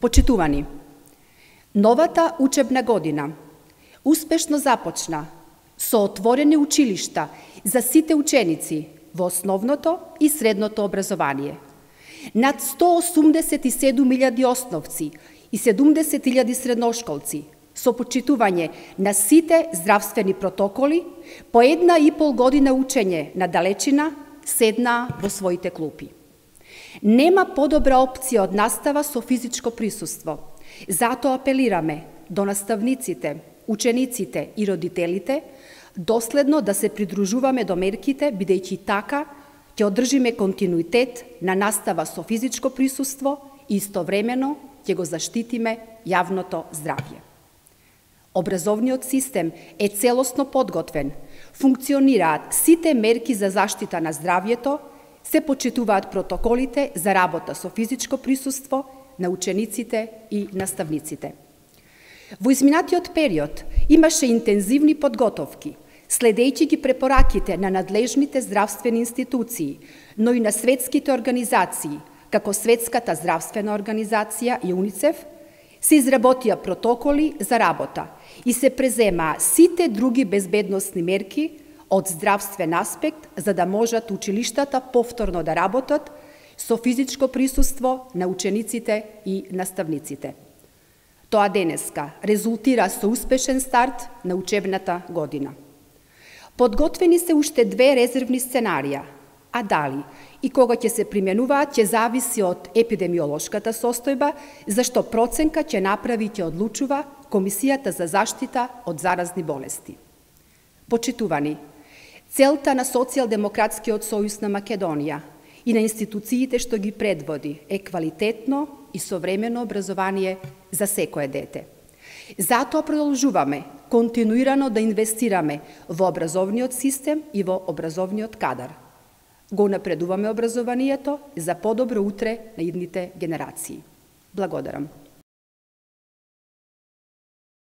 Почитувани, новата учебна година успешно започна со отворени училишта за сите ученици во основното и средното образование. Над 187.000 основци и 70.000 средношколци со почитување на сите здравствени протоколи по 1,5 година учење на далечина седнаа во своите клупи. Нема подобра опција од настава со физичко присуство. Затоа апелираме до наставниците, учениците и родителите доследно да се придружуваме до мерките, бидејќи така ќе одржиме континуитет на настава со физичко присуство и истовремено ќе го заштитиме јавното здравје. Образовниот систем е целосно подготвен, функционираат сите мерки за заштита на здравјето, се почитуваат протоколите за работа со физичко присуство на учениците и наставниците. Во изминатиот период имаше интензивни подготовки, следејќи ги препораките на надлежните здравствени институции, но и на светските организации, како Светската здравствена организација и УНИЦЕФ, се изработија протоколи за работа и се преземаа сите други безбедносни мерки од здравствен аспект, за да можат училиштата повторно да работат со физичко присуство на учениците и наставниците. Тоа денеска резултира со успешен старт на учебната година. Подготвени се уште 2 резервни сценарија, а дали и кога ќе се применуваат ќе зависи од епидемиолошката состојба, зашто проценка ќе направи и ќе одлучува Комисијата за заштита од заразни болести. Почитувани, целта на Социјалдемократскиот сојуз на Македонија и на институциите што ги предводи е квалитетно и современо образование за секое дете. Затоа продолжуваме континуирано да инвестираме во образовниот систем и во образовниот кадар. Го напредуваме образованието за подобро утре на идните генерации. Благодарам.